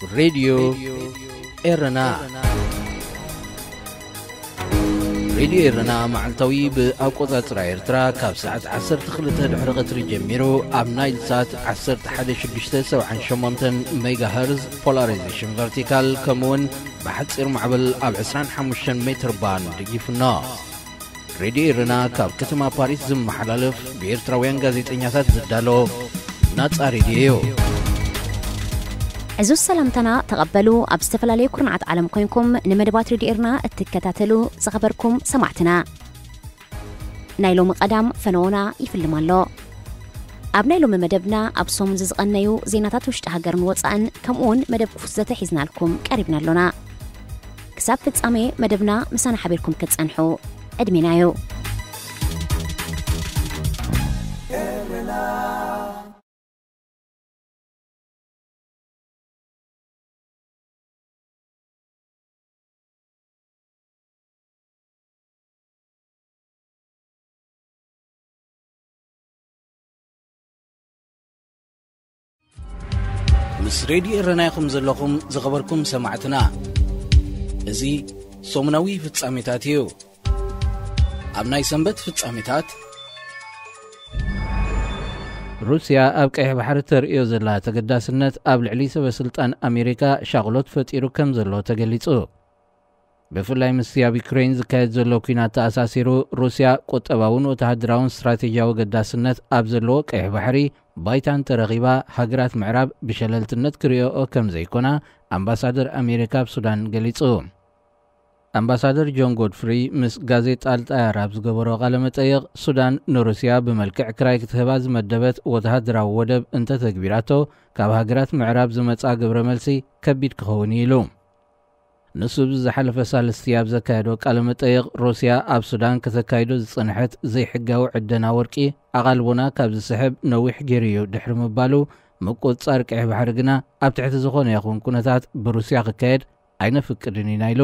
ሬድዮ ኤረና። ሬድዮ ኤረና መዓልታዊ ብኣቆጻጽራ ኤርትራ ካብ ሰዓት ዓሰርተ ክልተ ድሕሪ ቀትሪ ጀሚሩ ኣብ ናይል ሳት ዓሰርተ ሓደ ሽዱሽተ ሰብዓን ሸሞንተን ሜጋሃርዝ ፖላራይዜሽን ቨርቲካል፣ ከምኡውን ብሓጺር ማዕበል ኣብ ዕስራን ሓሙሽተን ሜትር ባንድ ይፍኖ። ሬድዮ ኤረና ካብ ከተማ ፓሪስ ዝመሓላለፍ ብኤርትራውያን ጋዜጠኛታት ዝዳሎ ናጻ ሬድዮ እዩ። ዕዙዝ ሰላምታና ተቐበሉ። ኣብ ዝተፈላለዩ ኩርናዓት ዓለም ኮይንኩም ንመደባት ሬድዮ ኤርና እትከታተሉ ዝኸበርኩም ሰማዕትና፣ ናይ ሎሚ ቀዳም ፈነዎና ይፍልም ኣሎ። ኣብ ናይ ሎሚ መደብና ኣብ ሰሙን ዝዝቐነዩ ዜናታት ውሽጢ ሃገርን ወጻእን ከምኡውን መደብ ክፉት ዘተ ሒዝናልኩም ቀሪብና ኣሎና። ክሳብ ፍጻሜ መደብና ምሳና ሓቢርኩም ክትጸንሑ ዕድሜና እዩ። ምስ ሬድዮ ኤረና ኢኹም ዘለኹም ዝኸበርኩም ሰማዕትና። እዚ ሰሙናዊ ፍጻሜታት እዩ። ኣብ ናይ ሰንበት ፍጻሜታት፣ ሩስያ ኣብ ቀይሕ ባሕሪ ተርእዮ ዘላ ተገዳስነት ኣብ ልዕሊ ሰበ ስልጣን ኣሜሪካ ሻቕሎት ፈጢሩ ከም ዘሎ ተገሊጹ። ብፍላይ ምስቲ ኣብ ዩክሬን ዝካየድ ዘሎ ኲናት ተኣሳሲሩ፣ ሩስያ ቁጠባውን ወተሃደራውን ስትራቴጂያዊ ገዳስነት ኣብ ዘለዎ ቀይሕ ባሕሪ ባይታ እንተረኺባ፣ ሃገራት ምዕራብ ብሸለልትነት ክርእዮኦ ከም ዘይኮና ኣምባሳደር ኣሜሪካ ኣብ ሱዳን ገሊጹ። ኣምባሳደር ጆን ጎድፍሪ ምስ ጋዜጣ ኣልጣያር ኣብ ዝገበሮ ቃለ መጠይቕ፣ ሱዳን ንሩስያ ብመልክዕ ክራይ ክትህባ ዝመደበት ወተሃደራዊ ወደብ እንተተግቢራቶ፣ ካብ ሃገራት ምዕራብ ዝመጽኣ ግብረ መልሲ ከቢድ ክኸውን እዩ ኢሉ። ንሱ ብዝሓለፈ ሳልስቲ ኣብ ዘካየዶ ቃለ መጠይቕ፣ ሩስያ ኣብ ሱዳን ከተካይዶ ዝጸንሐት ዘይሕጋዊ ዕደና ወርቂ ኣቓልቦና ካብ ዝስሕብ ነዊሕ ገይሩ እዩ ድሕሪ ምባሉ፣ ምቁጽጻር ቀይሕ ባሕሪ ግና ኣብ ትሕቲ ዝኾነ ይኹን ኩነታት ብሩስያ ክካየድ ኣይነፍቅድን ኢና ኢሉ።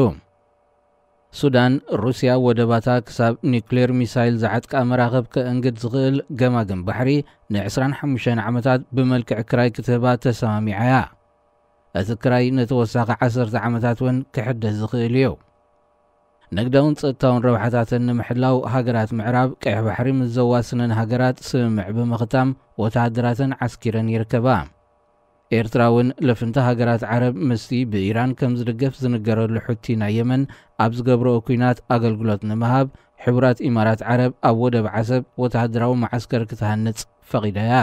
ሱዳን፣ ሩስያ ወደባታ ክሳብ ኒውክሌር ሚሳይል ዝዓጥቃ መራኽብ ከእንግድ ዝኽእል ገማግም ባሕሪ ንዕስራን ሓሙሽተን ዓመታት ብመልክዕ ክራይ ክትህባ ተሰማሚዓ እያ። እቲ ክራይ ንተወሳኺ ዓሰርተ ዓመታት እውን ክሕደስ ዝኽእል እዩ። ንግዳውን ጸጥታውን ረብሓታተን ንምሕላው፣ ሃገራት ምዕራብ ቀይሕ ባሕሪ ምስ ዘዋስነን ሃገራት ስምምዕ ብምኽታም፣ ወተሃደራተን ዓስኪረን ይርከባ። ኤርትራ እውን ልፍንቲ ሃገራት ዓረብ ምስቲ ብኢራን ከም ዝድገፍ ዝንገረሉ ሑቲ ናይ የመን ኣብ ዝገብርኦ ኲናት ኣገልግሎት ንምሃብ፣ ሕቡራት ኢማራት ዓረብ ኣብ ወደብ ዓሰብ ወተሃደራዊ መዓስከር ክትሃንጽ ፈቒዳ እያ።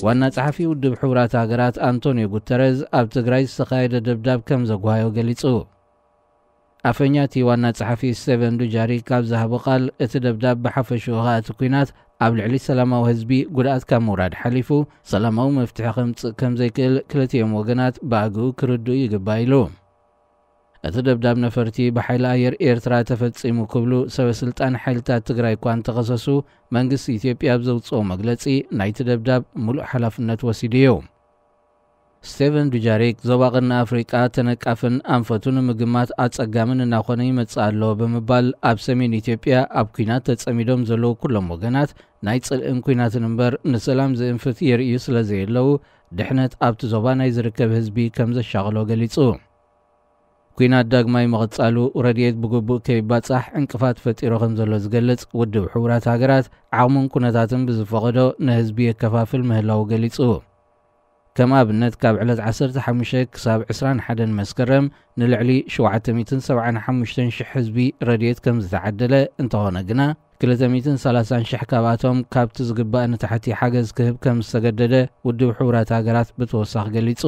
ዋና ጸሓፊ ውድብ ሕቡራት ሃገራት ኣንቶኒዮ ጉተረዝ ኣብ ትግራይ ዝተኻየደ ደብዳብ ከም ዘጓሃዮ ገሊጹ። ኣፈኛ እቲ ዋና ጸሓፊ ስቴቨን ዱጃሪክ ኣብ ዝሃቦ ቃል፣ እቲ ደብዳብ ብሓፈሽኡ ኸኣ እቲ ኲናት ኣብ ልዕሊ ሰላማዊ ህዝቢ ጉድኣት ካብ ምውራድ ሓሊፉ ሰላማዊ መፍትሒ ከምጽእ ከም ዘይክእል ክልቲኦም ወገናት ብኣግኡ ክርድኡ ይግባእ ኢሉ። እቲ ደብዳብ ነፈርቲ ብሓይሊ ኣየር ኤርትራ ተፈጺሙ ክብሉ ሰበ ስልጣን ሓይልታት ትግራይ እኳ እንተኸሰሱ፣ መንግስቲ ኢትዮጵያ ኣብ ዘውጽኦ መግለጺ ናይቲ ደብዳብ ሙሉእ ሓላፍነት ወሲዱ እዩ። ስቴቨን ዱጃሪክ፣ ዞባ ቀርኒ ኣፍሪቃ ተነቃፍን ኣንፈቱ ንምግማት ኣጸጋምን እናኾነ ይመጽእ ኣሎ ብምባል፣ ኣብ ሰሜን ኢትዮጵያ ኣብ ኲናት ተጸሚዶም ዘለዉ ኩሎም ወገናት ናይ ጽልእን ኲናትን እምበር ንሰላም ዝእንፍት የርእዩ ስለ ዘየለዉ፣ ድሕነት ኣብቲ ዞባ ናይ ዝርከብ ህዝቢ ከም ዘሻቕሎ ገሊጹ። ኲናት ዳግማይ ምቕጻሉ፣ ረድኤት ብግቡእ ከይባጻሕ ዕንቅፋት ፈጢሩ ከም ዘሎ ዝገልጽ ውድብ ሕቡራት ሃገራት፣ ዓቕሙን ኩነታትን ብዝፈቐዶ ንህዝቢ የከፋፍል ምህላዉ ገሊጹ። ከም ኣብነት፣ ካብ ዕለት ዓሰርተ ሓሙሽተ ክሳብ ዕስራን ሓደን መስከረም ንልዕሊ ሸውዓተ ሚእትን ሰብዓን ሓሙሽተን ሽሕ ህዝቢ ረድኤት ከም ዝተዓደለ እንተኾነ ግና፣ ክልተ ሚእትን ሰላሳን ሽሕ ካብኣቶም ካብቲ ዝግባእ ንታሕቲ ሓገዝ ክህብ ከም ዝተገደደ ውድብ ሕቡራት ሃገራት ብተወሳኺ ገሊጹ።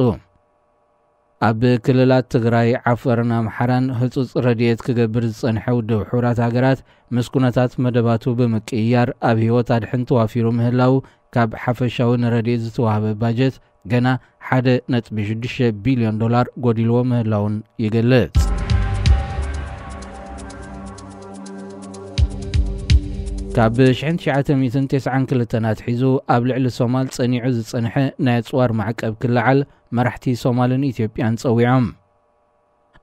ኣብ ክልላት ትግራይ፣ ዓፈርን ኣምሓራን ህጹጽ ረድኤት ክገብር ዝጸንሐ ውድብ ሕቡራት ሃገራት፣ ምስ ኩነታት መደባቱ ብምቅይያር፣ ኣብ ህይወት ኣድሕን ተዋፊሩ ምህላው፣ ካብ ሓፈሻዊ ንረድኤት ዝተዋህበ ባጀት ገና ሓደ ነጥቢ ሽዱሽተ ቢልዮን ዶላር ጎዲልዎ ምህላውን ይገልጽ። ካብ ሽሕን ትሽዓተ ሚእትን ተስዓን ክልተን ኣትሒዙ ኣብ ልዕሊ ሶማል ጸኒዑ ዝጸንሐ ናይ ኣጽዋር ማዕቀብ ክለዓል መራሕቲ ሶማልን ኢትዮጵያን ጸዊዖም።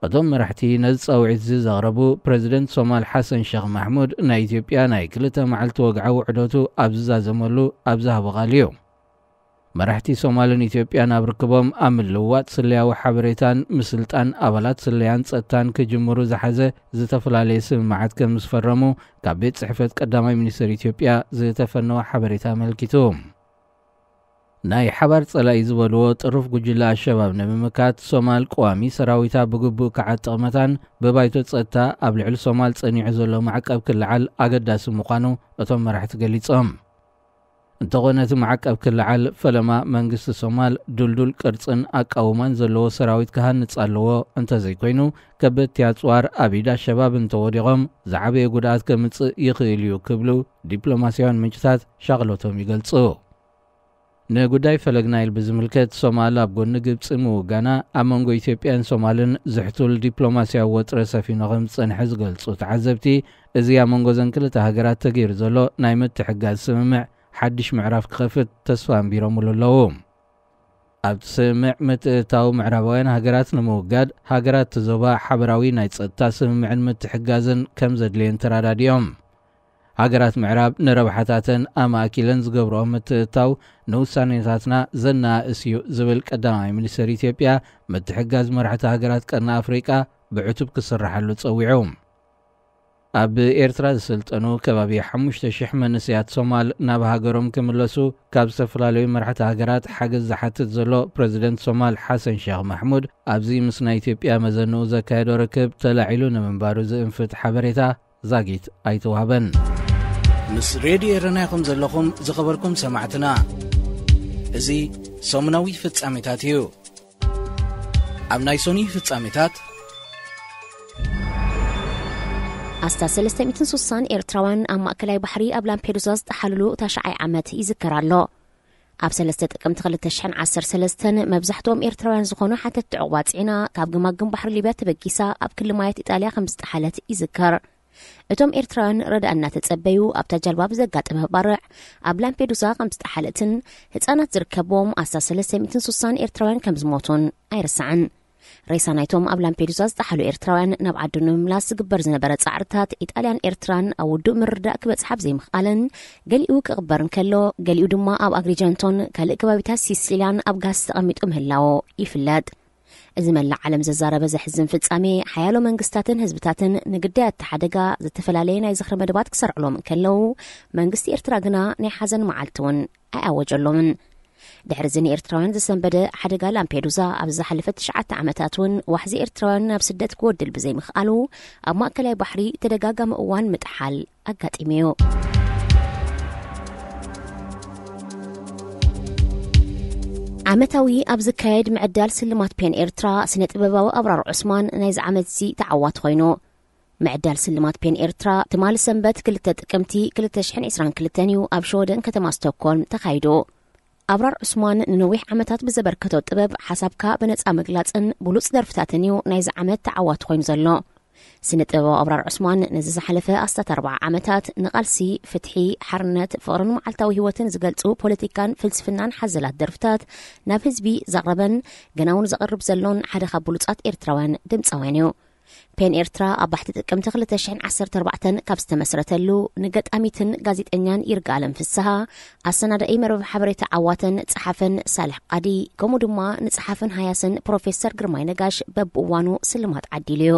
እቶም መራሕቲ ነዚ ጻውዒት እዚ ዘቕረቡ ፕረዚደንት ሶማል ሓሰን ሸኽ ማሕሙድ ናይ ኢትዮጵያ ናይ ክልተ መዓልቲ ወግዓዊ ዑደቱ ኣብ ዝዛዘመሉ ኣብ ዝሃቦ ቃል እዩ። መራሕቲ ሶማልን ኢትዮጵያን ኣብ ርክቦም ኣብ ምልውዋጥ ስለያዊ ሓበሬታን ምስልጣን ኣባላት ስለያን ጸጥታን ክጅምሩ ዝሓዘ ዝተፈላለየ ስምምዓት ከም ዝፈረሙ ካብ ቤት ጽሕፈት ቀዳማይ ሚኒስትር ኢትዮጵያ ዝተፈነወ ሓበሬታ ኣመልኪቱ። ናይ ሓባር ጸላኢ ዝበልዎ ጥሩፍ ጉጅለ ኣሸባብ ንምምካት ሶማል ቀዋሚ ሰራዊታ ብግቡእ ክዓጥቕ መታን ብባይቶ ጸጥታ ኣብ ልዕሊ ሶማል ጸኒዑ ዘሎ ማዕቀብ ክልዓል ኣገዳሲ ምዃኑ እቶም መራሕቲ ገሊጾም። እንተኾነ እቲ ማዕቀብ ክልዓል ፈለማ መንግስቲ ሶማል ድልዱል ቅርጽን ኣቃውማን ዘለዎ ሰራዊት ክሃንጽ ኣለዎ፣ እንተዘይኮይኑ ከበድቲ ኣጽዋር ኣብ ኢድ ኣሸባብ እንተወዲቖም ዝዓበየ ጉድኣት ከምጽእ ይኽእል እዩ ክብሉ ዲፕሎማስያውያን ምንጭታት ሻቕሎቶም ይገልጹ። ንጉዳይ ፈለግ ናይል ብዝምልከት ሶማል ኣብ ጎኒ ግብጺ ምውጋና ኣብ መንጎ ኢትዮጵያን ሶማልን ዝሕቱል ዲፕሎማስያዊ ወጥረ ሰፊኑ ከም ዝጸንሐ ዝገልጹ ተዓዘብቲ፣ እዚ ኣብ መንጎ ዘን ክልተ ሃገራት ተገይሩ ዘሎ ናይ ምትሕጋዝ ስምምዕ ሓድሽ ምዕራፍ ክኸፍት ተስፋ ኣንቢሮምሉ ኣለዉ። ኣብቲ ስምምዕ ምትእትታው ምዕራባውያን ሃገራት ንምውጋድ ሃገራት እቲ ዞባ ሓበራዊ ናይ ጸጥታ ስምምዕን ምትሕጋዝን ከም ዘድልየን ተረዳዲኦም። ሃገራት ምዕራብ ንረብሓታተን ኣማእኪለን ዝገብርኦ ምትእትታው ንውሳኔታትና ዘነኣእስ እዩ ዝብል ቀዳማይ ሚኒስትር ኢትዮጵያ፣ ምትሕጋዝ መራሕቲ ሃገራት ቀርኒ ኣፍሪቃ ብዕቱብ ክስራሓሉ ጸዊዑ። ኣብ ኤርትራ ዝስልጠኑ ከባቢ ሓሙሽተ ሽሕ መንእሰያት ሶማል ናብ ሃገሮም ክምለሱ ካብ ዝተፈላለዩ መራሕቲ ሃገራት ሓገዝ ዝሓትት ዘሎ ፕረዚደንት ሶማል ሓሰን ሼኽ ማሕሙድ ኣብዚ ምስ ናይ ኢትዮጵያ መዘንኡ ዘካየዶ ርክብ ተላዒሉ ንምንባሩ ዝእንፍት ሓበሬታ ዛጊት ኣይተዋህበን። ምስ ሬድዮ ኤረና ኢኹም ዘለኹም ዝኸበርኩም ሰማዕትና። እዚ ሰሙናዊ ፍጻሜታት እዩ። ኣብ ናይ ሶኒ ፍጻሜታት ኣስታት ሰለስተ ሚእትን ስሳን ኤርትራውያን ኣብ ማእከላይ ባሕሪ ኣብ ላምፔዱዛ ዝጠሓልሉ ታሽዓይ ዓመት ይዝከር ኣሎ። ኣብ ሰለስተ ጥቅምቲ ክልተ ሽሕን ዓሰርተ ሰለስተን መብዛሕትኦም ኤርትራውያን ዝኾኑ ሓተትቲ ዕቑባ ጽዒና ካብ ግማግም ባሕሪ ሊብያ ተበጊሳ ኣብ ክሊ ማያት ኢጣልያ ከም ዝጠሓለት ይዝከር። እቶም ኤርትራውያን ረድኣ እናተጸበዩ ኣብታ ጃልባ ብዘጋጠመ ባርዕ ኣብ ላምፔዱዛ ከም ዝጠሓለትን ህጻናት ዝርከብዎም ኣስታት ሰለስተ ሚእትን ስሳን ኤርትራውያን ከም ዝሞቱን ኣይርሳዕን። ሬሳ ናይቶም ኣብ ላምፔዱዛ ዝጠሓሉ ኤርትራውያን ናብ ዓዱ ንምምላስ ዝግበር ዝነበረ ጻዕርታት ኢጣልያን ኤርትራን ኣብ ውዱእ ምርዳእ ክበጽሕ ኣብ ዘይምኽኣለን፣ ገሊኡ ክቕበር እንከሎ፣ ገሊኡ ድማ ኣብ ኣግሪጀንቶን ካልእ ከባቢታት ሲሲልያን ኣብ ጋስ ተቐሚጡ ምህላዎ ይፍለጥ። እዚ መላእ ዓለም ዘዛረበ ዘሕዝን ፍጻሜ፣ ሓያሎ መንግስታትን ህዝብታትን ንግዳያት እቲ ሓደጋ ዝተፈላለየ ናይ ዝኽሪ መደባት ክሰርዕሎም እንከለዉ፣ መንግስቲ ኤርትራ ግና ናይ ሓዘን መዓልቲ እውን ኣይኣወጀሎምን። ድሕሪ እዚ ንኤርትራውያን ዘሰንበደ ሓደጋ ላምፔዱዛ፣ ኣብ ዝሓለፈ ትሽዓተ ዓመታት እውን ዋሕዚ ኤርትራውያን ናብ ስደት ክወድል ብዘይምኽኣሉ፣ ኣብ ማእከላይ ባሕሪ ተደጋጋሚ እዋን ምጥሓል ኣጋጢሙ እዩ። ዓመታዊ ኣብ ዝካየድ ምዕዳል ስልማት ፔን ኤርትራ፣ ስነ ጥበባዊ ኣብራር ዑስማን ናይዚ ዓመት እዚ ተዓዋቲ ኮይኑ። ምዕዳል ስልማት ፔን ኤርትራ፣ ትማሊ ሰንበት ክልተ ጥቅምቲ ክልተ ሽሕን ዕስራን ክልተን እዩ ኣብ ሽወደን ከተማ ስቶክሆልም ተኻይዱ። ኣብራር ዑስማን ንነዊሕ ዓመታት ብዘበርከቶ ጥበብ፣ ሓሳብካ ብነጻ ምግላጽን ብሉጽ ደርፍታትን እዩ ናይዚ ዓመት ተዓዋቲ ኮይኑ ዘሎ። ስነ ጥበባዊ ኣብራር ዑስማን ነዚ ዝሓለፈ ኣስታት ኣርብዓ ዓመታት ንቓልሲ፣ ፍትሒ፣ ሓርነት፣ ፍቕርን መዓልታዊ ህይወትን ዝገልጹ ፖለቲካን ፍልስፍናን ሓዘላት ደርፍታት ናብ ህዝቢ ዘቕረበን ገና እውን ዘቕርብ ዘሎን ሓደ ካብ ብሉጻት ኤርትራውያን ድምጻውያን እዩ። ፔን ኤርትራ ኣብ ባሕቲ ጥቅምቲ ክልተ ሽሕን ዓሰርተ ኣርባዕተን ካብ ዝተመስረተሉ፣ ንገጣሚትን ጋዜጠኛን ይርጋለም ፍስሃ፣ ኣሰናዳኢ መርበብ ሓበሬታ ዓዋተን ጸሓፈን ሳልሕ ቃዲ፣ ከምኡ ድማ ንጸሓፍን ሃያስን ፕሮፌሰር ግርማይ ነጋሽ በብእዋኑ ስልማት ዓዲሉ እዩ።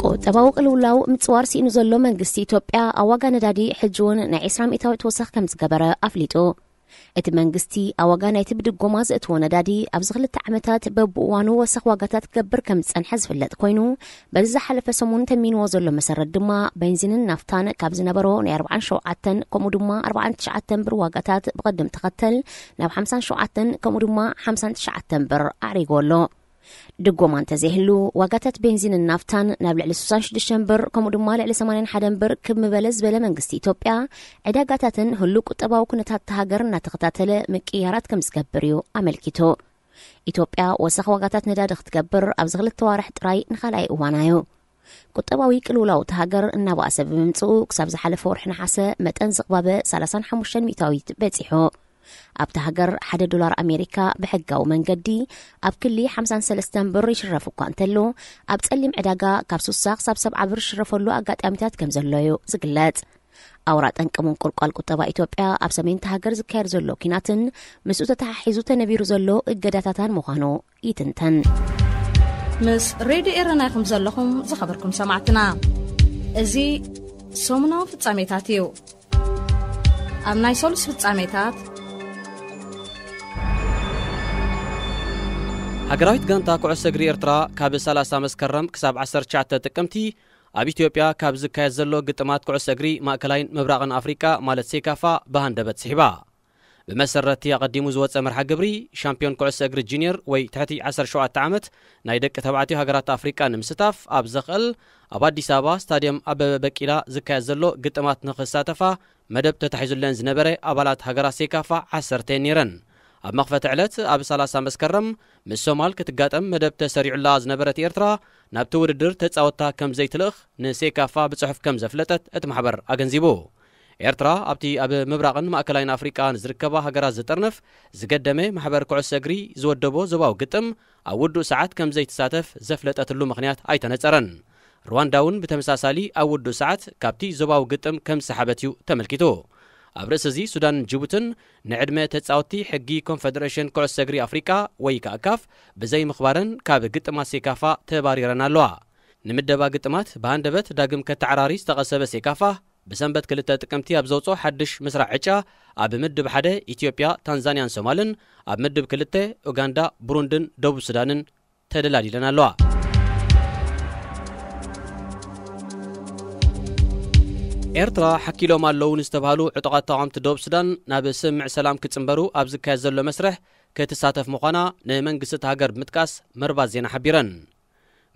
ቁጠባዊ ቅልውላው ምጽዋር ስኢኑ ዘሎ መንግስቲ ኢትዮጵያ፣ ኣብ ዋጋ ነዳዲ ሕጂ እውን ናይ ዕስራ ሚእታዊት ወሰኽ ከም ዝገበረ ኣፍሊጡ። እቲ መንግስቲ ኣብ ዋጋ ናይቲ ብድጎማ ዘእትዎ ነዳዲ ኣብዚ ክልተ ዓመታት በብእዋኑ ወሰኽ ዋጋታት ክገብር ከም ዝጸንሐ ዝፍለጥ ኮይኑ፣ በዚ ዝሓለፈ ሰሙን ተሚንዎ ዘሎ መሰረት ድማ ቤንዚንን ናፍታን ካብ ዝነበሮ ናይ ኣርብዓን ሸውዓተን ከምኡ ድማ ኣርብዓን ትሽዓተን ብር ዋጋታት ብቐደም ተኸተል ናብ ሓምሳን ሸውዓተን ከምኡ ድማ ሓምሳን ትሽዓተን ብር ኣዕሪጎ ኣሎ። ድጎማ እንተዘይህሉ፣ ዋጋታት ቤንዚንን ናፍታን ናብ ልዕሊ ስሳን ሽዱሽተን ብር፣ ከምኡ ድማ ልዕሊ ሰማንያን ሓደን ብር ክብ ምበለ ዝበለ መንግስቲ ኢትዮጵያ፣ ዕዳጋታትን ህሉው ቁጠባዊ ኩነታት እታ ሃገር እናተኸታተለ ምቅይያራት ከም ዝገብር እዩ ኣመልኪቱ። ኢትዮጵያ ወሰኽ ዋጋታት ነዳዲ ክትገብር ኣብዚ ክልተ ዋርሕ ጥራይ ንኻልኣይ እዋና እዩ። ቁጠባዊ ቅልውላው እታ ሃገር እናባእሰ ብምምጽኡ፣ ክሳብ ዝሓለፈ ወርሒ ነሓሰ መጠን ዝቕባበ ሰላሳን ሓሙሽተን ሚእታዊት በጺሑ። ኣብቲ ሃገር ሓደ ዶላር ኣሜሪካ ብሕጋዊ መንገዲ ኣብ ክሊ ሓምሳን ሰለስተን ብር ይሽረፍ እኳ እንተሎ፣ ኣብ ጸሊም ዕዳጋ ካብ ሱሳ ክሳብ ሰብዓ ብር ዝሽረፈሉ ኣጋጣሚታት ከም ዘሎ እዩ ዝግለጽ። ኣውራ ጠንቂ ምንቁልቋል ቁጠባ ኢትዮጵያ ኣብ ሰሜን እቲ ሃገር ዝካየድ ዘሎ ኲናትን ምስኡ ተተሓሒዙ ተነቢሩ ዘሎ እገዳታታን ምዃኑ ይትንተን። ምስ ሬድዮ ኤረና ኢኹም ዘለኹም ዝኸበርኩም ሰማዕትና። እዚ ሰሙናዊ ፍጻሜታት እዩ። ኣብ ናይ ሰሉስ ፍጻሜታት፣ ሃገራዊት ጋንታ ኩዕሶ እግሪ ኤርትራ ካብ ሰላሳ መስከረም ክሳብ ዓሰርተ ትሽዓተ ጥቅምቲ ኣብ ኢትዮጵያ ካብ ዝካየድ ዘሎ ግጥማት ኩዕሶ እግሪ ማእከላይን ምብራቕን ኣፍሪቃ ማለት ሴካፋ ብሃንደበት ስሒባ። ብመሰረትቲ ኣቐዲሙ ዝወጸ መርሓ ግብሪ፣ ሻምፒዮን ኩዕሶ እግሪ ጁኒየር ወይ ትሕቲ ዓሰርተ ሸውዓተ ዓመት ናይ ደቂ ተባዕትዮ ሃገራት ኣፍሪቃ ንምስታፍ ኣብ ዘኽእል ኣብ ኣዲስ ኣበባ ስታድየም ኣበበ በቂላ ዝካየድ ዘሎ ግጥማት ንኽሳተፋ መደብ ተታሒዙለን ዝነበረ ኣባላት ሃገራት ሴካፋ ዓሰርተ ነይረን። ኣብ መኽፈቲ ዕለት ኣብ ሰላሳ መስከረም ምስ ሶማል ክትጋጠም መደብ ተሰሪዑላ ዝነበረት ኤርትራ ናብቲ ውድድር ተጻወታ ከም ዘይትልእኽ ንሴካፋ ብጽሑፍ ከም ዘፍለጠት እቲ ማሕበር ኣገንዚቡ። ኤርትራ ኣብቲ ኣብ ምብራቕን ማእከላይን ኣፍሪቃ ንዝርከባ ሃገራት ዝጥርንፍ ዝገደመ ማሕበር ኩዕሶ እግሪ ዝወደቦ ዞባዊ ግጥም ኣብ ውዱእ ሰዓት ከም ዘይትሳተፍ ዘፍለጠትሉ ምኽንያት ኣይተነጸረን። ሩዋንዳ እውን ብተመሳሳሊ ኣብ ውዱእ ሰዓት ካብቲ ዞባዊ ግጥም ከም ዝሰሓበት እዩ ተመልኪቱ። ኣብ ርእሲ እዚ ሱዳንን ጅቡትን ንዕድመ ተጻወትቲ ሕጊ ኮንፈደሬሽን ኩዕሶ እግሪ ኣፍሪቃ ወይ ከዓ ካፍ ብዘይምኽባረን ካብ ግጥማት ሴካፋ ተባሪረን ኣለዋ። ንምደባ ግጥማት ብሃንደበት ዳግም ከተዓራሪ ዝተቐሰበ ሴካፋ ብሰንበት ክልተ ጥቅምቲ ኣብ ዘውፅኦ ሓድሽ ምስራዕ ዕጫ ኣብ ምድብ ሓደ ኢትዮጵያ፣ ታንዛንያን ሶማልን፣ ኣብ ምድብ ክልተ ኡጋንዳ፣ ብሩንድን ደቡብ ሱዳንን ተደላዲለን ኣለዋ። ኤርትራ ሓኪሎም ኣለዉ ንዝተባህሉ ዕጡቓት ተቓወምቲ ደቡብ ሱዳን ናብ ስምምዕ ሰላም ክጽንበሩ ኣብ ዝካየድ ዘሎ መስርሕ ክትሳተፍ ምዃና ንመንግስቲ እቲ ሃገር ብምጥቃስ መርባት ዜና ሓቢረን።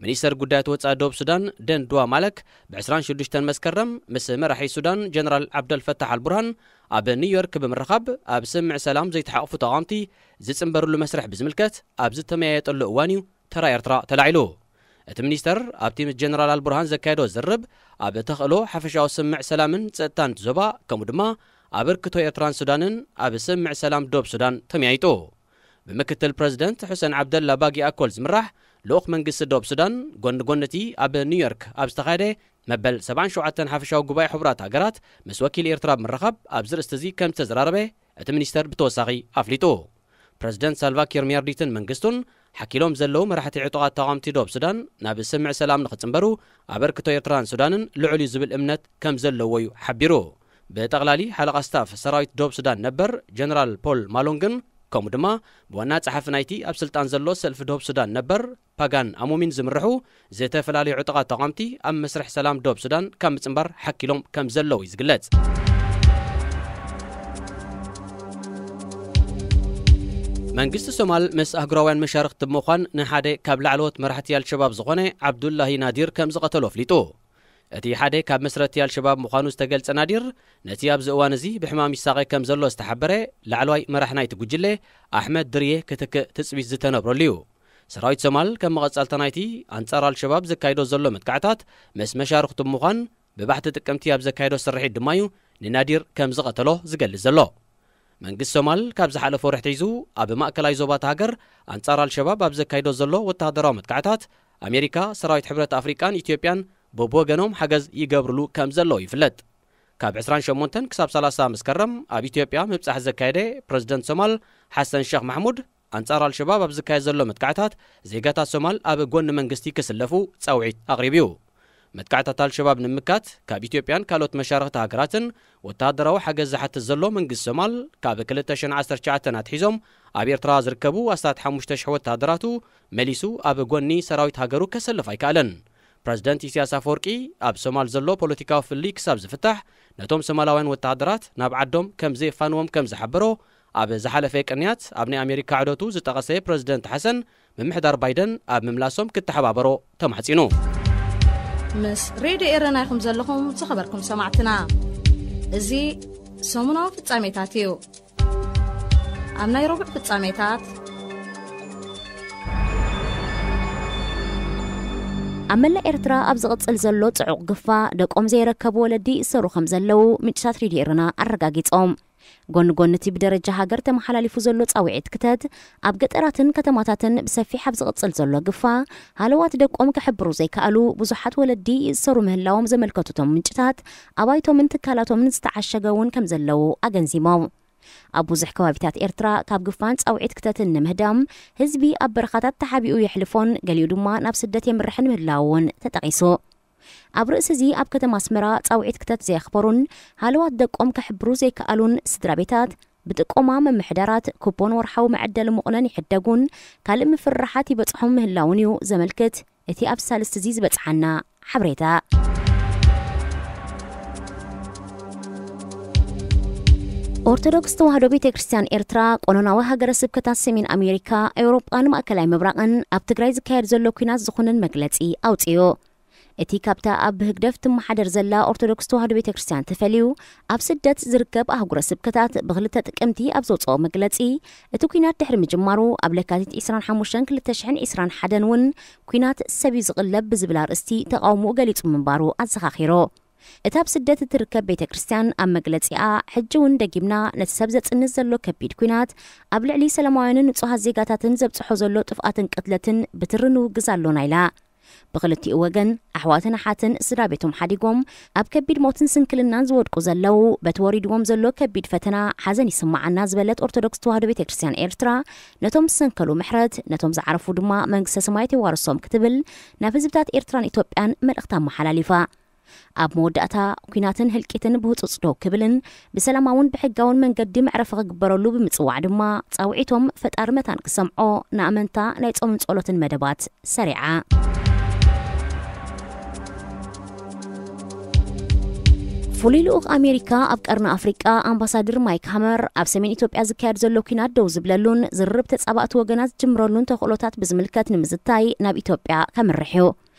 ሚኒስተር ጉዳያት ወጻኢ ደቡብ ሱዳን ደን ዱዋ ማለክ ብ ዕስራን ሽዱሽተን መስከረም ምስ መራሒ ሱዳን ጀነራል ዓብደልፈታሕ ኣልቡርሃን ኣብ ኒውዮርክ ብምርኻብ ኣብ ስምምዕ ሰላም ዘይተሓቑፉ ተቓወምቲ ዝጽንበርሉ መስርሕ ብዝምልከት ኣብ ዝተመያየጠሉ እዋን እዩ ተራ ኤርትራ ተላዒሉ። እቲ ሚኒስተር ኣብቲ ምስ ጀነራል ኣልቡርሃን ዘካየዶ ዝርብ ኣብ ተኽእሎ ሓፈሻዊ ስምምዕ ሰላምን ጸጥታን እቲ ዞባ ከምኡ ድማ ኣበርክቶ ኤርትራን ሱዳንን ኣብ ስምምዕ ሰላም ደቡብ ሱዳን ተመያይጡ። ብምክትል ፕረዚደንት ሑሰን ዓብደላ ባጊ ኣኮል ዝምራሕ ልኡኽ መንግስቲ ደቡብ ሱዳን ጎኒ ጎኒ እቲ ኣብ ኒውዮርክ ኣብ ዝተኻየደ መበል ሰብዓን ሸውዓተን ሓፈሻዊ ጉባኤ ሕቡራት ሃገራት ምስ ወኪል ኤርትራ ብምርኻብ ኣብዚ ርእስቲ እዚ ከም ዝተዘራረበ እቲ ሚኒስተር ብተወሳኺ ኣፍሊጡ። ፕረዚደንት ሳልቫኪር ሚያርዲትን መንግስቱን ሓኪሎም ዘለዉ መራሕቲ ዕጡቓት ተቓወምቲ ደቡብ ሱዳን ናብ ስምምዕ ሰላም ንኽጽንበሩ ኣበርክቶ ኤርትራን ሱዳንን ልዑል እዩ ዝብል እምነት ከም ዘለዎ እዩ ሓቢሩ። ብጠቕላሊ ሓለቓ ስታፍ ሰራዊት ደቡብ ሱዳን ነበር ጀነራል ፖል ማሎንግን ከምኡ ድማ ብዋና ጸሓፊ ናይቲ ኣብ ስልጣን ዘሎ ሰልፊ ደቡብ ሱዳን ነበር ፓጋን ኣሞሚን ዝምርሑ ዝተፈላለዩ ዕጡቓት ተቓወምቲ ኣብ መስርሕ ሰላም ደቡብ ሱዳን ካብ ምጽንባር ሓኪሎም ከም ዘለዉ እዩ ዝግለጽ። መንግስቲ ሶማል ምስ ኣህጉራውያን መሻርኽቲ ብምዃን ንሓደ ካብ ላዕለዎት መራሕቲ ኣልሸባብ ዝኾነ ዓብዱላሂ ናዲር ከም ዝቐተሎ ኣፍሊጡ። እቲ ሓደ ካብ መስረቲ ኣልሸባብ ምዃኑ ዝተገልጸ ናዲር፣ ነቲ ኣብዚ እዋን እዚ ብሕማም ይሳቐ ከም ዘሎ ዝተሓበረ ላዕለዋይ መራሕ ናይቲ ጉጅለ ኣሕመድ ድርየ ክትክእ ትጽቢት ዝተነብረሉ እዩ። ሰራዊት ሶማል ከም መቐጸልታ ናይቲ ኣንጻር ኣልሸባብ ዘካይዶ ዘሎ መጥቃዕታት ምስ መሻርኽቱ ብምዃን ብባሕቲ ጥቅምቲ ኣብ ዘካየዶ ስርሒት ድማ እዩ ንናዲር ከም ዝቐተሎ ዝገልጽ ዘሎ። መንግስቲ ሶማል ካብ ዝሓለፈ ወርሒ ሒዙ ኣብ ማእከላይ ዞባ እታ ሃገር ኣንጻር ኣልሸባብ ኣብ ዘካይዶ ዘሎ ወተሃደራዊ መጥቃዕታት ኣሜሪካ፣ ሰራዊት ሕብረት ኣፍሪቃን ኢትዮጵያን በብወገኖም ሓገዝ ይገብርሉ ከም ዘለዉ ይፍለጥ። ካብ ዕስራን ሸሞንተን ክሳብ ሰላሳ መስከረም ኣብ ኢትዮጵያ ምብጻሕ ዘካየደ ፕረዚደንት ሶማል ሓሰን ሸኽ ማሕሙድ ኣንጻር ኣልሸባብ ኣብ ዝካየድ ዘሎ መጥቃዕታት ዜጋታት ሶማል ኣብ ጎኒ መንግስቲ ክስለፉ ጻውዒት ኣቕሪቡ እዩ። መጥቃዕታት ኣልሸባብ ንምምካት ካብ ኢትዮጵያን ካልኦት መሻርኽቲ ሃገራትን ወተሃደራዊ ሓገዝ ዝሓትት ዘሎ መንግስቲ ሶማል ካብ ክልተ ሽሕን ዓሰርተ ትሽዓተን ኣትሒዞም ኣብ ኤርትራ ዝርከቡ ኣስታት ሓሙሽተ ሽሕ ወተሃደራቱ መሊሱ ኣብ ጎኒ ሰራዊት ሃገሩ ከሰልፍ ኣይከኣለን። ፕረዚደንት ኢሳያስ ኣፈወርቂ ኣብ ሶማል ዘሎ ፖለቲካዊ ፍልልይ ክሳብ ዝፍታሕ ነቶም ሶማላውያን ወተሃደራት ናብ ዓዶም ከም ዘየፋንዎም ከም ዝሓበሮ ኣብ ዝሓለፈ ቅንያት ኣብ ናይ ኣሜሪካ ዕደቱ ዝጠቐሰ ፕረዚደንት ሓሰን ምምሕዳር ባይደን ኣብ ምምላሶም ክተሓባበሮ ተማሕጺኑ። ምስ ሬድዮ ኤረና ኢኹም ዘለኹም ዝኸበርኩም ሰማዕትና። እዚ ሰሙናዊ ፍጻሜታት እዩ። ኣብ ናይ ረቡዕ ፍጻሜታት ኣብ መላእ ኤርትራ ኣብ ዝቕጽል ዘሎ ጽዑቕ ግፋ ደቆም ዘይረከቡ ወለዲ ይእሰሩ ከም ዘለዉ ምንጭታት ሬድዮ ኤረና ኣረጋጊጾም። ጎኒ ጎኒ እቲ ብደረጃ ሃገር ተመሓላሊፉ ዘሎ ጻውዒት ክተት፣ ኣብ ገጠራትን ከተማታትን ብሰፊሕ ኣብ ዝቕጽል ዘሎ ግፋ፣ ሃለዋት ደቆም ክሕብሩ ዘይከኣሉ ብዙሓት ወለዲ ይእሰሩ ምህላዎም ዘመልከቱ እቶም ምንጭታት፣ ኣባይቶምን ትካላቶምን ዝተዓሸገ እውን ከም ዘለዉ ኣገንዚሞም። ኣብ ብዙሕ ከባቢታት ኤርትራ ካብ ግፋን ጻውዒት ክተትን ንምህዳም፣ ህዝቢ ኣብ በረኻታት ተሓቢኡ የሕልፎን ገሊኡ ድማ ናብ ስደት የምርሕን ምህላዉ እውን ተጠቒሱ። ኣብ ርእሲ እዚ ኣብ ከተማ ኣስመራ ጻውዒት ክተት ዘየኽበሩን ሃለዋት ደቆም ከሕብሩ ዘይከኣሉን ስድራ ቤታት፣ ብጥቆማ ምምሕዳራት ኩፖን ወርሓዊ መዐደሊ መቑነን ይሕደጉን ካልእ ምፍርራሓት ይበጽሖም ምህላውን እዩ ዘመልክት እቲ ኣብ ሳልስቲ እዚ ዝበጽሓና ሓበሬታ። ኦርቶዶክስ ተዋህዶ ቤተ ክርስቲያን ኤርትራ፣ ቆኖናዊ ሃገረ ስብከታት ሰሜን ኣሜሪካ፣ ኤውሮጳን ማእከላይ ምብራቕን ኣብ ትግራይ ዝካየድ ዘሎ ኲናት ዝኹንን መግለጺ ኣውጺኡ። እቲ ካብታ ኣብ ህግደፍ ትመሓደር ዘላ ኦርቶዶክስ ተዋህዶ ቤተ ክርስቲያን ተፈልዩ ኣብ ስደት ዝርከብ ኣህጉረ ስብከታት ብክልተ ጥቅምቲ ኣብ ዘውፅኦ መግለፂ፣ እቲ ኲናት ድሕሪ ምጅማሩ ኣብ ለካቲት ዕስራን ሓሙሽተን ክልተ ሽሕን ዕስራን ሓደን እውን ኲናት ሰብ እዩ ዝቕለብ ብዝብል ኣርእስቲ ተቓውሞኡ ገሊጹ ምንባሩ ኣዘኻኺሩ። እታ ኣብ ስደት እትርከብ ቤተ ክርስቲያን ኣብ መግለጺኣ፣ ሕጂ እውን ደጊምና ነቲ ሰብ ዘጽንት ዘሎ ከቢድ ኲናት፣ ኣብ ልዕሊ ሰላማውያንን ንጹሃት ዜጋታትን ዘብጽሖ ዘሎ ጥፍኣትን ቅትለትን ብትሪ ንውግዝ ኣሎና ኢላ። ብኽልቲኡ ወገን ኣሕዋትን ኣሓትን ስድራ ቤቶም ሓዲጎም ኣብ ከቢድ ሞትን ስንክልናን ዝወድቁ ዘለዉ፣ በቲ ወሪድዎም ዘሎ ከቢድ ፈተና ሓዘን ይስምዓና ዝበለት ኦርቶዶክስ ተዋህዶ ቤተ ክርስቲያን ኤርትራ፣ ነቶም ዝሰንከሉ ምሕረት፣ ነቶም ዝዓረፉ ድማ መንግስተ ሰማያት የዋርሶም ክትብል ናብ ህዝብታት ኤርትራን ኢትዮጵያን መልእኽታ ኣመሓላሊፋ። ኣብ መወዳእታ፣ ኲናትን ህልቂትን ብህጹጽ ደው ክብልን ብሰላማውን ብሕጋውን መንገዲ መዕረፊ ክግበረሉ ብምጽዋዕ ድማ፣ ጻውዒቶም ፈጣሪ መታን ክሰምዖ ንኣመንታ ናይ ጾምን ጸሎትን መደባት ሰሪዓ። ፍሉይ ልኡኽ ኣሜሪካ ኣብ ቀርኒ ኣፍሪቃ ኣምባሳደር ማይክ ሃመር፣ ኣብ ሰሜን ኢትዮጵያ ዝካየድ ዘሎ ኲናት ደው ዝብለሉን ዝርርብ ተጻባእቲ ወገናት ዝጅምረሉን ተኽእሎታት ብዝምልከት ንምዝታይ ናብ ኢትዮጵያ ከምርሕ እዩ።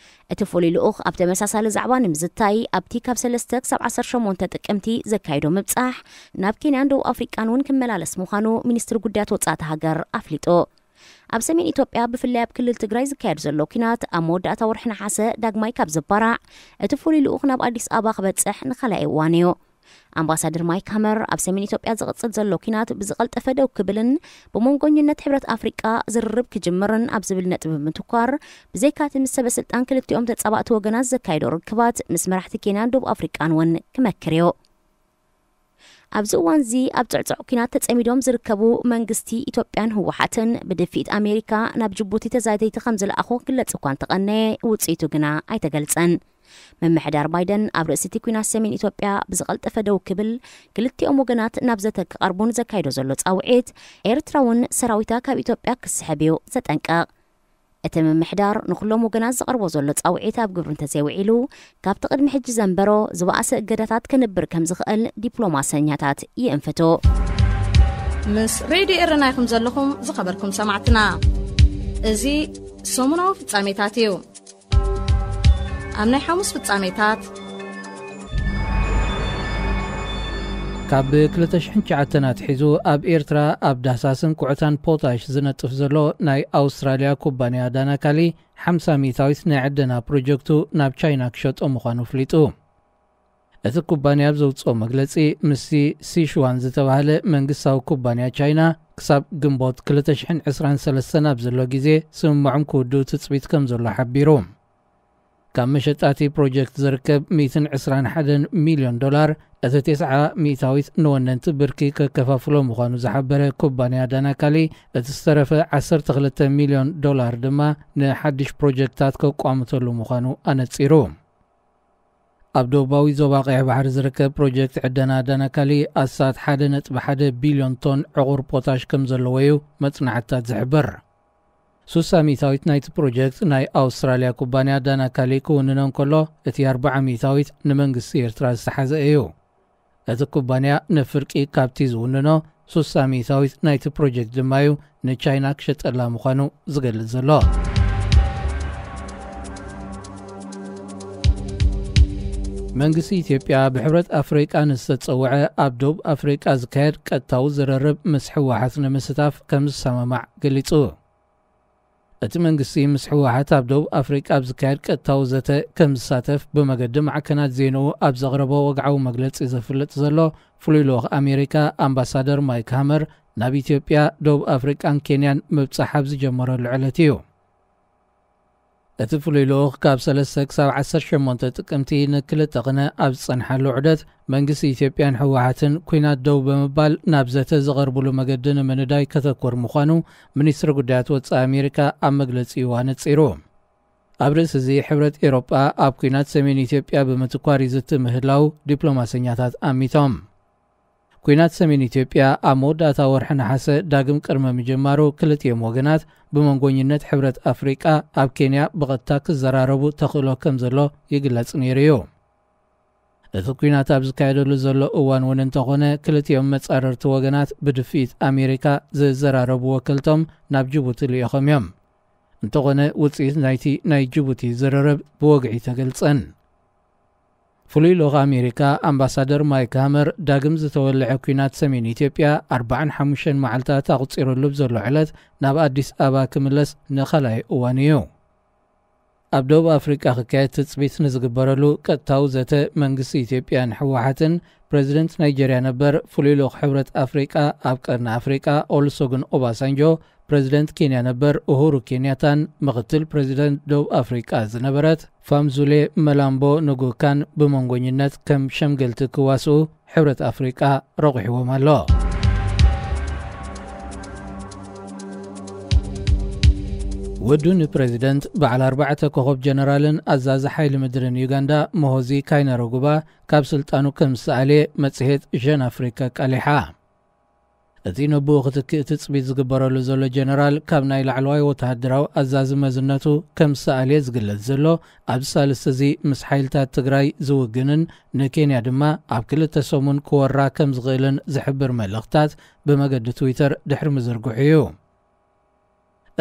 እቲ ፍሉይ ልኡኽ ኣብ ተመሳሳሊ ዛዕባ ንምዝታይ ኣብቲ ካብ ሰለስተ ክሳብ ዓሰርተ ሸሞንተ ጥቅምቲ ዘካይዶ ምብጻሕ፣ ናብ ኬንያን ደቡብ ኣፍሪቃን እውን ክመላለስ ምዃኑ ሚኒስትሪ ጉዳያት ወጻእቲ ሃገር ኣፍሊጡ። ኣብ ሰሜን ኢትዮጵያ ብፍላይ ኣብ ክልል ትግራይ ዝካየድ ዘሎ ኲናት ኣብ መወዳእታ ወርሒ ነሓሰ ዳግማይ ካብ ዘባራዕ፣ እቲ ፍሉይ ልኡኽ ናብ ኣዲስ ኣበባ ክበጽሕ ንኻልኣይ እዋን እዩ። ኣምባሳደር ማይክ ሃመር ኣብ ሰሜን ኢትዮጵያ ዝቕጽል ዘሎ ኲናት ብዝቐልጠፈ ደው ክብልን ብመንጎኝነት ሕብረት ኣፍሪቃ ዝርርብ ክጅምርን ኣብ ዝብል ነጥቢ ብምትኳር፣ ብዘይካቲ ምስ ሰበ ስልጣን ክልቲኦም ተጻባእቲ ወገናት ዘካየዶ ርክባት ምስ መራሕቲ ኬንያን ደቡብ ኣፍሪቃን እውን ክመክር እዩ። ኣብዚ እዋን እዚ ኣብ ጽዕጽዕ ኲናት ተጸሚዶም ዝርከቡ መንግስቲ ኢትዮጵያን ህወሓትን ብድፍኢት ኣሜሪካ ናብ ጅቡቲ ተዛተይቲ ከም ዝለኣኹ ክግለጽ እኳ እንተቐነየ፣ ውጽኢቱ ግና ኣይተገልጸን። ምምሕዳር ባይደን ኣብ ርእሲ እቲ ኲናት ሰሜን ኢትዮጵያ ብዝቐልጠፈ ደው ክብል፣ ክልቲኦም ወገናት ናብ ዘተ ክቐርቡን ዘካይዶ ዘሎ ጻውዒት፣ ኤርትራ እውን ሰራዊታ ካብ ኢትዮጵያ ክስሕብ እዩ ዘጠንቀቕ። እቲ ምምሕዳር ንኹሎም ወገናት ዘቕርቦ ዘሎ ጻውዒት ኣብ ግብሪ እንተዘይውዒሉ፣ ካብቲ ቅድሚ ሕጂ ዘንበሮ ዝበኣሰ እገዳታት ክንብር ከም ዝኽእል ዲፕሎማሰኛታት ይእንፍቱ። ምስ ሬድዮ ኤረና ኢኹም ዘለኹም ዝኸበርኩም ሰማዕትና። እዚ ሰሙናዊ ፍጻሜታት እዩ። ኣብ ናይ ሓሙስ ፍጻሜታት፣ ካብ ክልተ ሽሕን ትሽዓተን ኣትሒዙ ኣብ ኤርትራ ኣብ ዳህሳስን ኩዕታን ፖታሽ ዝነጥፍ ዘሎ ናይ ኣውስትራልያ ኩባንያ ዳናካሊ ሓምሳ ሚእታዊት ናይ ዕደና ፕሮጀክቱ ናብ ቻይና ክሸጦ ምዃኑ ኣፍሊጡ። እቲ ኩባንያ ኣብ ዘውጽኦ መግለጺ፣ ምስቲ ሲሽዋን ዝተባህለ መንግስታዊ ኩባንያ ቻይና ክሳብ ግንቦት ክልተ ሽሕን ዕስራን ሰለስተን ኣብ ዘሎ ግዜ ስምምዖም ክውድኡ ትጽቢት ከም ዘሎ ሓቢሩ። ካብ መሸጣ እቲ ፕሮጀክት ዝርከብ ሚእትን ዕስራን ሓደን ሚልዮን ዶላር፣ እቲ ተስዓ ሚእታዊት ንወነንቲ ብርኪ ከከፋፍሎ ምዃኑ ዝሓበረ ኩባንያ ዳናካሊ፣ እቲ ዝተረፈ ዓሰርተ ክልተ ሚልዮን ዶላር ድማ ንሓድሽ ፕሮጀክታት ከቋምተሉ ምዃኑ ኣነጺሩ። ኣብ ደቡባዊ ዞባ ቀይሕ ባሕሪ ዝርከብ ፕሮጀክት ዕደና ዳናካሊ ኣስታት ሓደ ነጥቢ ሓደ ቢልዮን ቶን ዕቑር ፖታሽ ከም ዘለዎ እዩ መጽናዕትታት ዝሕብር። ሱሳ ሚእታዊት ናይቲ ፕሮጀክት ናይ ኣውስትራልያ ኩባንያ ዳናካሊ ክውንኖ እንከሎ፣ እቲ ኣርብዓ ሚእታዊት ንመንግስቲ ኤርትራ ዝተሓዘ እዩ። እቲ ኩባንያ ንፍርቂ ካብቲ ዝውንኖ ሱሳ ሚእታዊት ናይቲ ፕሮጀክት ድማ እዩ ንቻይና ክሸጠላ ምዃኑ ዝገልጽ ዘሎ። መንግስቲ ኢትዮጵያ ብሕብረት ኣፍሪቃ ንዝተጸውዐ ኣብ ደቡብ ኣፍሪቃ ዝካየድ ቀጥታዊ ዝርርብ ምስ ህወሓት ንምስታፍ ከም ዝሰማማዕ ገሊጹ። እቲ መንግስቲ ምስ ህወሓት ኣብ ደቡብ ኣፍሪቃ ኣብ ዝካየድ ቀጥታዊ ዘተ ከም ዝሳተፍ ብመገዲ ማዕከናት ዜንኡ ኣብ ዘቕረቦ ወግዓዊ መግለጺ ዘፍልጥ ዘሎ ፍሉይ ልኡኽ ኣሜሪካ ኣምባሳደር ማይክ ሃመር ናብ ኢትዮጵያ፣ ደቡብ ኣፍሪቃን ኬንያን ምብጻሕ ኣብ ዝጀመረሉ ዕለት እዩ። እቲ ፍሉይ ልኡኽ ካብ ሰለስተ ክሳብ ዓሰርተ ሸሞንተ ጥቅምቲ ንክልተ ቅነ ኣብ ዝጸንሓሉ ዑደት መንግስቲ ኢትዮጵያን ህወሓትን ኲናት ደው ብምባል ናብ ዘተ ዝቐርብሉ መገዲ ንምንዳይ ከተኩር ምዃኑ ሚኒስትሪ ጉዳያት ወጻኢ ኣሜሪካ ኣብ መግለጺኡ ኣነጺሩ። ኣብ ርእሲ እዚ ሕብረት ኤሮጳ ኣብ ኲናት ሰሜን ኢትዮጵያ ብምትኳር ይዝቲ ምህላው ዲፕሎማሰኛታት ኣሚቶም። ኲናት ሰሜን ኢትዮጵያ ኣብ መወዳእታ ወርሒ ነሓሰ ዳግም ቅድመ ምጅማሩ ክልቲኦም ወገናት ብመንጎኝነት ሕብረት ኣፍሪቃ ኣብ ኬንያ ብቐጥታ ክዘራረቡ ተኽእሎ ከም ዘሎ ይግለጽ ነይሩ እዩ። እቲ ኲናት ኣብ ዝካየደሉ ዘሎ እዋን እውን እንተኾነ ክልቲኦም መጻረርቲ ወገናት ብድፍኢት ኣሜሪካ ዝዘራረቡ ወከልቶም ናብ ጅቡቲ ልኢኾም እዮም። እንተኾነ ውጽኢት ናይቲ ናይ ጅቡቲ ዝርርብ ብወግዒ ተገልጸን። ፍሉይ ልኡኽ ኣሜሪካ ኣምባሳደር ማይክ ሃመር ዳግም ዝተወልዐ ኲናት ሰሜን ኢትዮጵያ ኣርባዓን ሓሙሽተን መዓልታት ኣቑጺሩሉ ብዘሎ ዕለት ናብ ኣዲስ ኣበባ ክምለስ ንኻልኣይ እዋን እዩ። ኣብ ደቡብ ኣፍሪቃ ክካየድ ትጽቢት ንዝግበረሉ ቀጥታዊ ዘተ መንግስቲ ኢትዮጵያን ህወሓትን ፕሬዚደንት ናይጀርያ ነበር ፍሉይ ልኡኽ ሕብረት ኣፍሪቃ ኣብ ቀርኒ ኣፍሪቃ ኦሉሰጉን ኦባሳንጆ፣ ፕሬዚደንት ኬንያ ነበር ኡሁሩ ኬንያታን ምኽትል ፕሬዚደንት ደቡብ ኣፍሪቃ ዝነበረት ፋምዙሌ መላምቦ ንጉካን ብመንጎኝነት ከም ሸምገልቲ ክዋስኡ ሕብረት ኣፍሪቃ ረቑሕዎም ኣሎ። ወዱ ንፕሬዚደንት በዓል ኣርባዕተ ኮኸብ ጀነራልን ኣዛዚ ሓይሊ ምድርን ዩጋንዳ ሞሆዚ ካይነረጉባ ካብ ስልጣኑ ከም ዝሰኣልየ መጽሔት ዠን ኣፍሪካ ኣቃሊሓ። እቲ ነብኡ ክትክእ ትጽቢት ዝግበረሉ ዘሎ ጀነራል ካብ ናይ ላዕለዋይ ወተሃደራዊ ኣዛዚ መዝነቱ ከም ዝሰኣልየ ዝግለጽ ዘሎ ኣብዚ ሳልስቲ እዚ ምስ ሓይልታት ትግራይ ዝውግንን ንኬንያ ድማ ኣብ ክልተ ሰሙን ክወራ ከም ዝኽእልን ዝሕብር መልእኽታት ብመገዲ ትዊተር ድሕሪ ምዝርግሑ እዩ።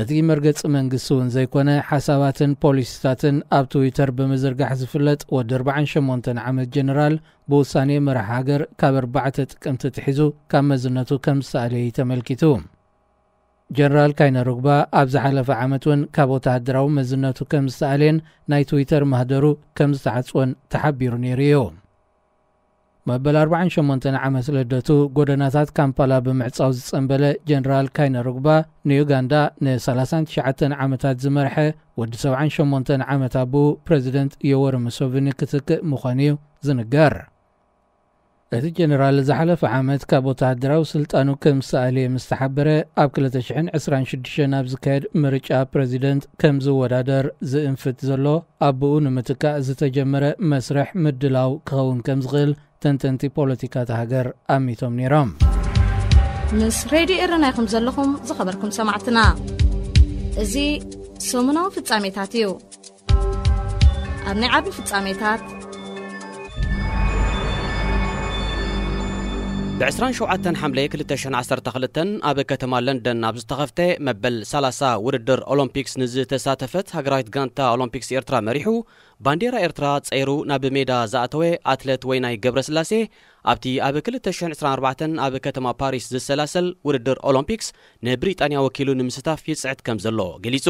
እቲ መርገጺ መንግስቲ እውን ዘይኮነ ሓሳባትን ፖሊሲታትን ኣብ ትዊተር ብምዝርጋሕ ዝፍለጥ ወዲ ኣርባዓን ሸሞንተን ዓመት ጀነራል ብውሳኔ መራሕ ሃገር ካብ ኣርባዕተ ጥቅምቲ ትሒዙ ካብ መዝነቱ ከም ዝሰኣለ እዩ ተመልኪቱ። ጀነራል ካይነሩግባ ኣብ ዝሓለፈ ዓመት እውን ካብ ወተሃደራዊ መዝነቱ ከም ዝሰኣልየን ናይ ትዊተር ማህደሩ ከም ዝተዓጽወን ተሓቢሩ ነይሩ እዩ። መበል ኣርባዓን ሸሞንተን ዓመት ልደቱ ጎደናታት ካምፓላ ብምዕጻው ዝጸንበለ ጀነራል ካይነሩግባ ንዩጋንዳ ን ሰላሳን ትሽዓተን ዓመታት ዝመርሐ ወዲ ሰብዓን ሸሞንተን ዓመት ኣቦኡ ፕረዚደንት ዮወሪ ሙሶቪኒ ክትክእ ምዃኑ እዩ ዝንገር። እቲ ጀነራል ዝሓለፈ ዓመት ካብ ወተሃደራዊ ስልጣኑ ከም ዝሰኣለ ምስ ተሓበረ ኣብ ክልተ ሽሕን ዕስራን ሽዱሽተን ኣብ ዝካየድ ምርጫ ፕረዚደንት ከም ዝወዳደር ዝእንፍት ዘሎ ኣቦኡ ንምትካእ ዝተጀመረ መስርሕ ምድላው ክኸውን ከም ዝኽእል ተንተንቲ ፖለቲካ እታ ሃገር ኣሚቶም ነይሮም። ምስ ሬድዮ ኤረና ኢኹም ዘለኹም ዝኸበርኩም ሰማዕትና። እዚ ሰሙናዊ ፍጻሜታት እዩ። ኣብ ናይ ዓቢ ፍጻሜታት ብ ዕስራን ሸውዓተን ሓምለ ክልተ ሽሕን ዓሰርተ ክልተን ኣብ ከተማ ለንደን ኣብ ዝተኸፍተ መበል ሰላሳ ውድድር ኦሎምፒክስ ንዝተሳተፈት ሃገራዊት ጋንታ ኦሎምፒክስ ኤርትራ መሪሑ ባንዴራ ኤርትራ ጸይሩ ናብ ሜዳ ዝኣተወ ኣትለት ወይናይ ገብረስላሴ ኣብቲ ኣብ ክልተ ሽሕን ዕስራን ኣርባዕተን ኣብ ከተማ ፓሪስ ዝሰላሰል ውድድር ኦሎምፒክስ ንብሪጣንያ ወኪሉ ንምስታፍ ይጽዕት ከም ዘሎ ገሊጹ።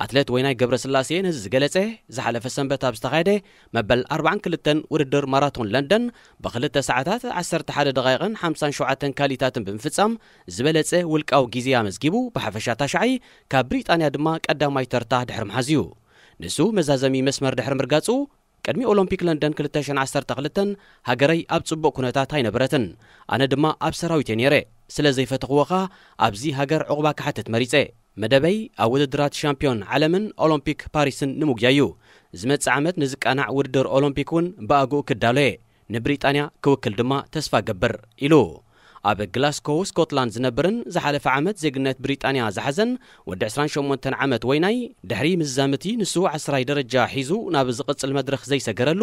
ኣትሌት ወይናይ ገብረስላሴ ነዚ ዝገለጸ ዝሓለፈ ሰንበት ኣብ ዝተኻየደ መበል ኣርባዓን ክልተን ውድድር ማራቶን ለንደን ብክልተ ሰዓታት ዓሰርተ ሓደ ደቓይቕን ሓምሳን ሸውዓተን ካሊታትን ብምፍጻም ዝበለጸ ውልቃዊ ግዜ ኣመዝጊቡ ብሓፈሻ ታሽዓይ ካብ ብሪጣንያ ድማ ቀዳማይ ተርታ ድሕሪ ምሓዝ እዩ። ንሱ መዛዘሚ መስመር ድሕሪ ምርጋጹ ቅድሚ ኦሎምፒክ ለንደን ክልተ ሽሕን ዓሰርተ ክልተን ሃገረይ ኣብ ጽቡቕ ኩነታት ኣይነበረትን፣ ኣነ ድማ ኣብ ሰራዊት እየ ነይረ። ስለ ዘይፈተኽዎ ኸኣ ኣብዚ ሃገር ዕቑባ ክሓትት መሪጸ። መደበይ ኣብ ውድድራት ሻምፒዮን ዓለምን ኦሎምፒክ ፓሪስን ንምጉያይ እዩ። ዝመጽእ ዓመት ንዝቃናዕ ውድድር ኦሎምፒክ እውን ብኣግኡ ክዳሎ እየ። ንብሪጣንያ ክውክል ድማ ተስፋ እገብር ኢሉ። ኣብ ግላስኮው ስኮትላንድ ዝነብርን ዝሓለፈ ዓመት ዜግነት ብሪጣንያ ዝሓዘን ወዲ ዕስራን ሸሞንተን ዓመት ወይናይ ድሕሪ ምዝዛም እቲ ንሱ ዓስራይ ደረጃ ሒዙ ናብ ዝቕጽል መድረኽ ዘይሰገረሉ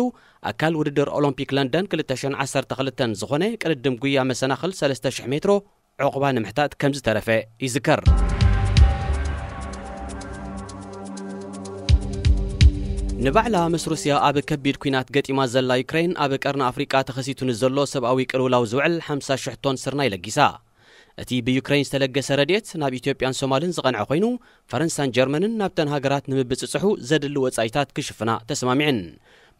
ኣካል ውድድር ኦሎምፒክ ለንደን ክልተ ሽሕን ዓሰርተ ክልተን ዝኾነ ቅድድም ጉያ መሰናኽል ሰለስተ ሽሕ ሜትሮ ዕቑባ ንምሕታት ከም ዝተረፈ ይዝከር። ንባዕላ ምስ ሩስያ ኣብ ከቢድ ኲናት ገጢማ ዘላ ዩክሬን ኣብ ቀርኒ ኣፍሪቃ ተኸሲቱ ንዘሎ ሰብኣዊ ቅልውላው ዝውዕል ሓምሳ ሽሕ ቶን ስርናይ ለጊሳ። እቲ ብዩክሬን ዝተለገሰ ረድኤት ናብ ኢትዮጵያን ሶማልን ዝቐንዐ ኮይኑ፣ ፈረንሳን ጀርመንን ናብተን ሃገራት ንምብጽጽሑ ዘድሊ ወጻኢታት ክሽፍና ተስማሚዐን።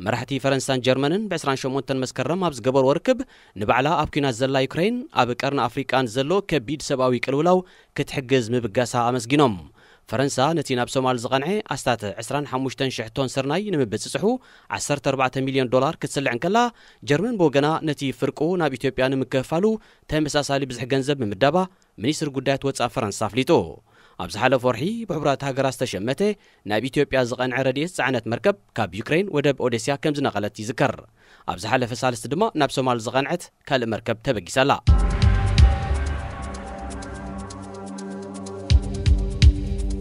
መራሕቲ ፈረንሳን ጀርመንን ብ ዕስራን ሸሞንተን መስከረም ኣብ ዝገበርዎ ርክብ፣ ንባዕላ ኣብ ኲናት ዘላ ዩክሬን ኣብ ቀርኒ ኣፍሪቃ ንዘሎ ከቢድ ሰብኣዊ ቅልውላው ክትሕግዝ ምብጋሳ ኣመስጊኖም። ፈረንሳ ነቲ ናብ ሶማል ዝቐንዐ ኣስታት ዕስራን ሓሙሽተን ሽሕ ቶን ስርናይ ንምብጽጽሑ ዓሰርተ ኣርባዕተ ሚልዮን ዶላር ክትስልዕ እንከላ፣ ጀርመን ብወገና ነቲ ፍርቁ ናብ ኢትዮጵያ ንምክፍፋሉ ተመሳሳሊ ብዝሒ ገንዘብ ምምዳባ ሚኒስትሪ ጉዳያት ወጻኢ ፈረንሳ ኣፍሊጡ። ኣብ ዝሓለፈ ወርሒ ብሕቡራት ሃገራት ዝተሸመተ ናብ ኢትዮጵያ ዝቐንዐ ረድኤት ጸዕነት መርከብ ካብ ዩክሬን ወደብ ኦዴስያ ከም ዝነቐለት ይዝከር። ኣብ ዝሓለፈ ሳልስቲ ድማ ናብ ሶማል ዝቐንዐት ካልእ መርከብ ተበጊሳ ኣላ።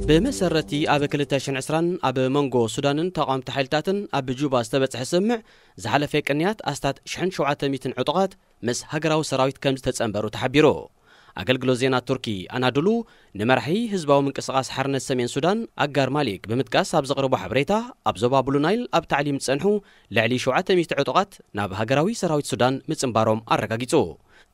ብመሰረቲ ኣብ ክልተ ሽሕን ዕስራን ኣብ መንጎ ሱዳንን ተቓወምቲ ሓይልታትን ኣብ ጁባ ዝተበጽሐ ስምምዕ ዝሓለፈ ቅንያት ኣስታት ሽሕን ሸውዓተ ሚእትን ዕጡቓት ምስ ሃገራዊ ሰራዊት ከም ዝተጸንበሩ ተሓቢሩ። ኣገልግሎት ዜና ቱርኪ ኣናዱሉ ንመራሒ ህዝባዊ ምንቅስቓስ ሓርነት ሰሜን ሱዳን ኣጋር ማሊክ ብምጥቃስ ኣብ ዘቕረቦ ሓበሬታ፣ ኣብ ዞባ ብሉ ናይል ኣብ ታዕሊም ዝጸንሑ ልዕሊ ሸውዓተ ሚእቲ ዕጡቓት ናብ ሃገራዊ ሰራዊት ሱዳን ምጽንባሮም ኣረጋጊጹ።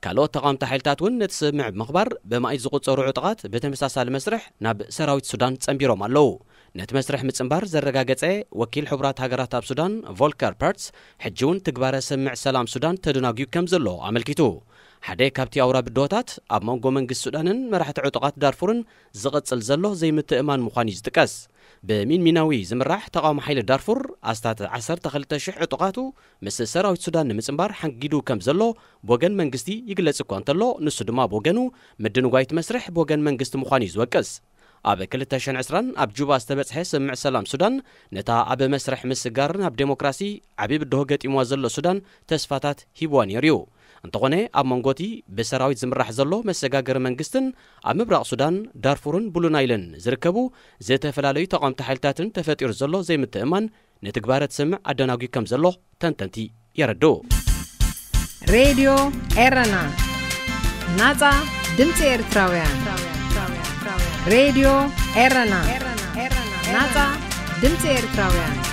ካልኦት ተቓወምቲ ሓይልታት እውን ነቲ ስምምዕ ብምኽባር ብማኢት ዝቑጸሩ ዕጡቓት ብተመሳሳሊ መስርሕ ናብ ሰራዊት ሱዳን ጸንቢሮም ኣለዉ። ነቲ መስርሕ ምጽንባር ዘረጋገጸ ወኪል ሕቡራት ሃገራት ኣብ ሱዳን ቮልከር ፐርትስ፣ ሕጂ እውን ትግባረ ስምምዕ ሰላም ሱዳን ተደናጉዩ ከም ዘሎ ኣመልኪቱ። ሓደ ካብቲ ኣውራ ብድሆታት ኣብ መንጎ መንግስቲ ሱዳንን መራሕቲ ዕጡቓት ዳርፉርን ዝቕጽል ዘሎ ዘይምትእማን ምዃኑ እዩ ዝጥቀስ። ብሚንሚናዊ ዝምራሕ ተቓውሞ ሓይሊ ዳርፉር ኣስታት ዓሰርተ ክልተ ሽሕ ዕጡቓቱ ምስ ሰራዊት ሱዳን ንምጽንባር ሓንጊዱ ከም ዘሎ ብወገን መንግስቲ ይግለጽ እኳ እንተሎ፣ ንሱ ድማ ብወገኑ ምድንጓይ እቲ መስርሕ ብወገን መንግስቲ ምዃኑ እዩ ዝወቅስ። ኣብ ክልተ ሽሕን ዕስራን ኣብ ጁባ ዝተበጽሐ ስምምዕ ሰላም ሱዳን፣ ነታ ኣብ መስርሕ ምስግጋር ናብ ዴሞክራሲ ዓቢ ብድሆ ገጢምዋ ዘሎ ሱዳን ተስፋታት ሂብዋ ነይሩ እዩ። እንተኾነ፣ ኣብ መንጎ እቲ ብሰራዊት ዝምራሕ ዘሎ መሰጋገሪ መንግስትን ኣብ ምብራቕ ሱዳን ዳርፉርን ብሉ ናይልን ዝርከቡ ዝተፈላለዩ ተቓወምቲ ሓይልታትን ተፈጢሩ ዘሎ ዘይምትእማን ንትግባረ እቲ ስምምዕ ኣደናጒ ከም ዘሎ ተንተንቲ የረድኡ። ሬድዮ ኤረና፣ ናጻ ድምጺ ኤርትራውያን። ሬድዮ ኤረና፣ ናጻ ድምጺ ኤርትራውያን።